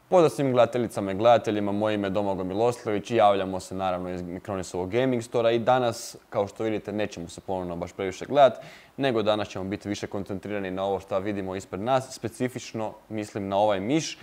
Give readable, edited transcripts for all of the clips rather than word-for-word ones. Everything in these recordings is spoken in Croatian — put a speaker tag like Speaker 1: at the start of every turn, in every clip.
Speaker 1: Pozdrav svim gledateljicama i gledateljima, moje ime je Domagoj Miloslavljević i javljamo se naravno iz Mikronisovog Gaming Stora i danas, kao što vidite, nećemo se ponovno baš previše gledati, nego danas ćemo biti više koncentrirani na ovo što vidimo ispred nas, specifično mislim na ovaj miš.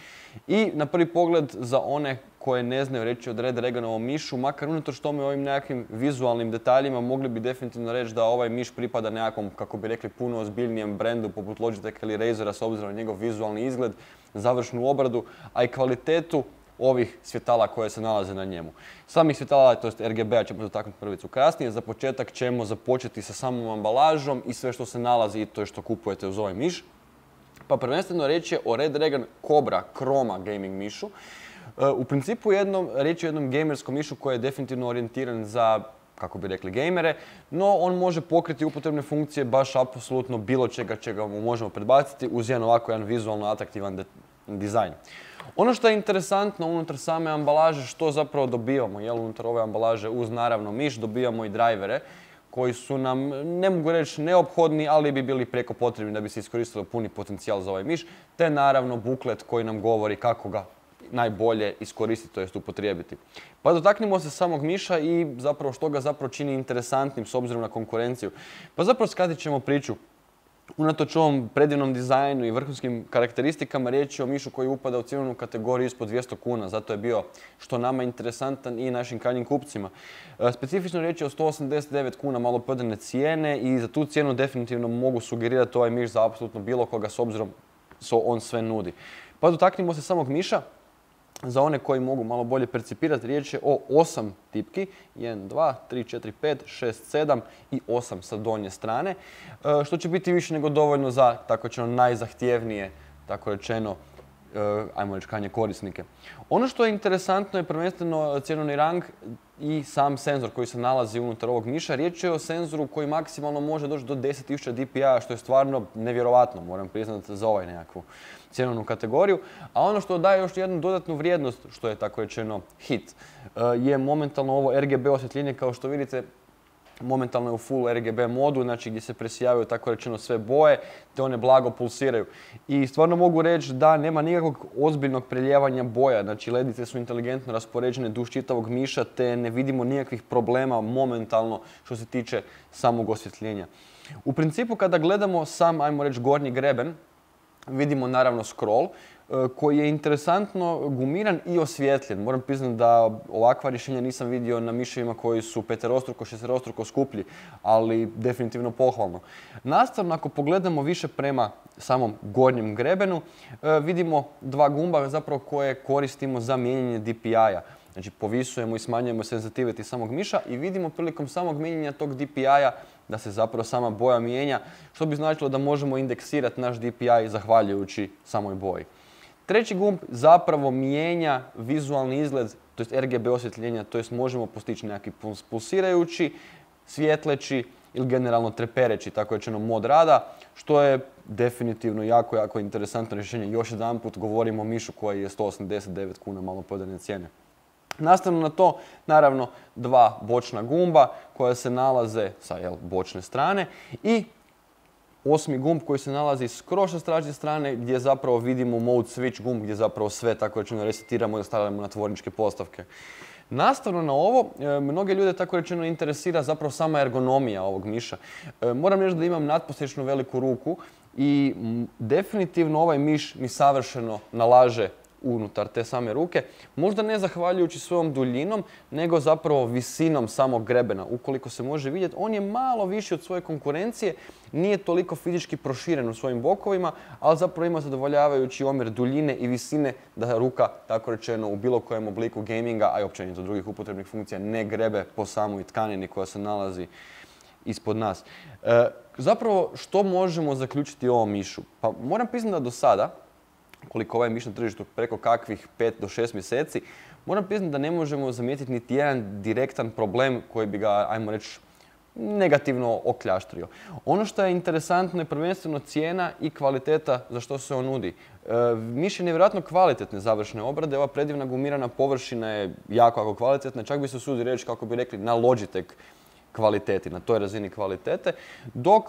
Speaker 1: I na prvi pogled za one koje ne znaju reći od Red Draganovom mišu, makar unatoč tome ovim nekakvim vizualnim detaljima mogli bi definitivno reći da ovaj miš pripada nekakvom, kako bi rekli, puno ozbiljnijem brendu poput Logitecha ili Razera s obzirom na njegov vizualni izgled, završnu obradu, a i kvalitetu ovih svjetala koje se nalaze na njemu. Samih svjetala, to jest RGB-a ćemo dotaknuti prvicu kasnije. Za početak ćemo započeti sa samom ambalažom i sve što se nalazi i to što kupujete uz ovaj miš. Pa prvenstveno riječ je o Red Dragon Cobra Chroma gaming mišu. U principu riječ je o jednom gamerskom mišu koji je definitivno orijentiran za, kako bi rekli, gamere, no on može pokriti upotrebne funkcije baš apsolutno bilo čega mu možemo predbaciti uz jedan vizualno atraktivan dizajn. Ono što je interesantno unutar same ambalaže, što zapravo dobivamo, unutar ove ambalaže uz naravno miš dobivamo i drajvere koji su nam, ne mogu reći neophodni, ali bi bili prijeko potrebni da bi se iskoristilo puni potencijal za ovaj miš, te naravno buklet koji nam govori kako ga najbolje iskoristiti, to jest upotrijebiti. Pa dotaknimo se samog miša i zapravo što ga zapravo čini interesantnim s obzirom na konkurenciju. Pa zapravo skratit ćemo priču. Unatoč ovom predivnom dizajnu i vrhunskim karakteristikama riječ je o mišu koji upada u cijenovnu kategoriju ispod 200 kuna, zato je bio što nama interesantan i našim krajnjim kupcima. Specifično riječ je o 189 kuna maloprodajne cijene i za tu cijenu definitivno mogu sugerirati ovaj miš za apsolutno bilo koga s obzirom što on sve nudi. Pa dotaknimo se samog miša. Za one koji mogu malo bolje percipirati, riječ je o 8 tipki, 1, 2, 3, 4, 5, 6, 7 i 8 sa donje strane, što će biti više nego dovoljno za, tako rečeno, najzahtjevnije, tako rečeno, ajmo reći, krajnje korisnike. Ono što je interesantno je prvenstveno cjenovni rang i sam senzor koji se nalazi unutar ovog miša. Riječ je o senzoru koji maksimalno može doći do 10.000 dpi-a, što je stvarno nevjerovatno, moram priznati, za ovaj nekakvu cjenovnu kategoriju. A ono što daje još jednu dodatnu vrijednost, što je tako rečeno hit, je momentalno ovo RGB osvjetljenje. Kao što vidite, momentalno je u full RGB modu, znači gdje se presijavaju, tako rečeno, sve boje, te one blago pulsiraju. I stvarno mogu reći da nema nikakvog ozbiljnog prelijevanja boja, znači ledice su inteligentno raspoređene duž čitavog miša, te ne vidimo nikakvih problema momentalno što se tiče samog osvjetljenja. U principu kada gledamo sam, ajmo reći, gornji greben, vidimo naravno scroll koji je interesantno gumiran i osvjetljen. Moram priznati da ovakva rješenja nisam vidio na miševima koji su peterostruko, šesterostruko skuplji, ali definitivno pohvalno. Nastavno, ako pogledamo više prema samom gornjem grebenu, vidimo dva gumba zapravo koje koristimo za mijenjanje DPI-a. Znači povisujemo i smanjujemo sensitivity samog miša i vidimo prilikom samog mijenjanja tog DPI-a da se zapravo sama boja mijenja, što bi značilo da možemo indeksirati naš DPI zahvaljujući samoj boji. Treći gumb zapravo mijenja vizualni izgled, to jest RGB osvjetljenja, to jest možemo postići neki pulsirajući, svjetleći ili generalno trepereći, tako rečeno, mod rada, što je definitivno jako interesantno rješenje. Još jedanput govorimo o mišu koji je 189 kuna maloprodajne cijene. Nastavno na to, naravno, dva bočna gumba koja se nalaze sa bočne strane i osmi gumb koji se nalazi skroz sa stražnje strane gdje zapravo vidimo mode switch gumb gdje zapravo sve, tako rečeno, resetiramo i stavljamo na tvorničke postavke. Nastavno na ovo, mnoge ljude, tako rečeno, interesira zapravo sama ergonomija ovog miša. Moram reći da imam natprosječno veliku ruku i definitivno ovaj miš mi savršeno nalaže unutar te same ruke, možda ne zahvaljujući svojom duljinom, nego zapravo visinom samog grebena. Ukoliko se može vidjeti, on je malo viši od svoje konkurencije, nije toliko fizički proširen u svojim bokovima, ali zapravo ima zadovoljavajući omjer duljine i visine da ruka, tako rečeno, u bilo kojem obliku gaminga, a i općenito drugih upotrebnih funkcija, ne grebe po samoj tkanini koja se nalazi ispod nas. Zapravo, što možemo zaključiti o ovom mišu? Pa moram priznati da do sada, koliko ovaj miš na tržištu preko kakvih 5 do 6 mjeseci, moram priznati da ne možemo zamijetiti niti jedan direktan problem koji bi ga, ajmo reći, negativno okljaštrio. Ono što je interesantno je prvenstveno cijena i kvaliteta za što se on nudi. Miš je nevjerojatno kvalitetne završne obrade, ova predivna gumirana površina je jako kvalitetna, čak bi se usudio reći, kako bi rekli, na Logitech kvaliteti, na toj razini kvalitete, dok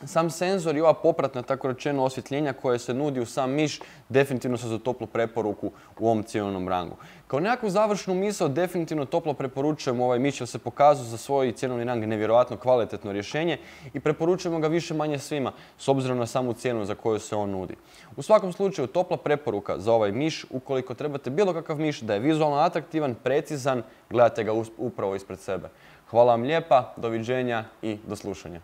Speaker 1: Sam senzor i ova popratna, tako rečeno, osvjetljenja koje se nudi u sam miš definitivno su za toplu preporuku u ovom cjenovnom rangu. Kao nekakvu završnu misao definitivno toplo preporučujemo ovaj miš jer se pokazao za svoj cjenovni rang nevjerojatno kvalitetno rješenje i preporučujemo ga više manje svima s obzirom na samu cijenu za koju se on nudi. U svakom slučaju topla preporuka za ovaj miš, ukoliko trebate bilo kakav miš da je vizualno atraktivan, precizan, gledajte ga upravo ispred sebe. Hvala vam lijepa, doviđenja i do slušanja.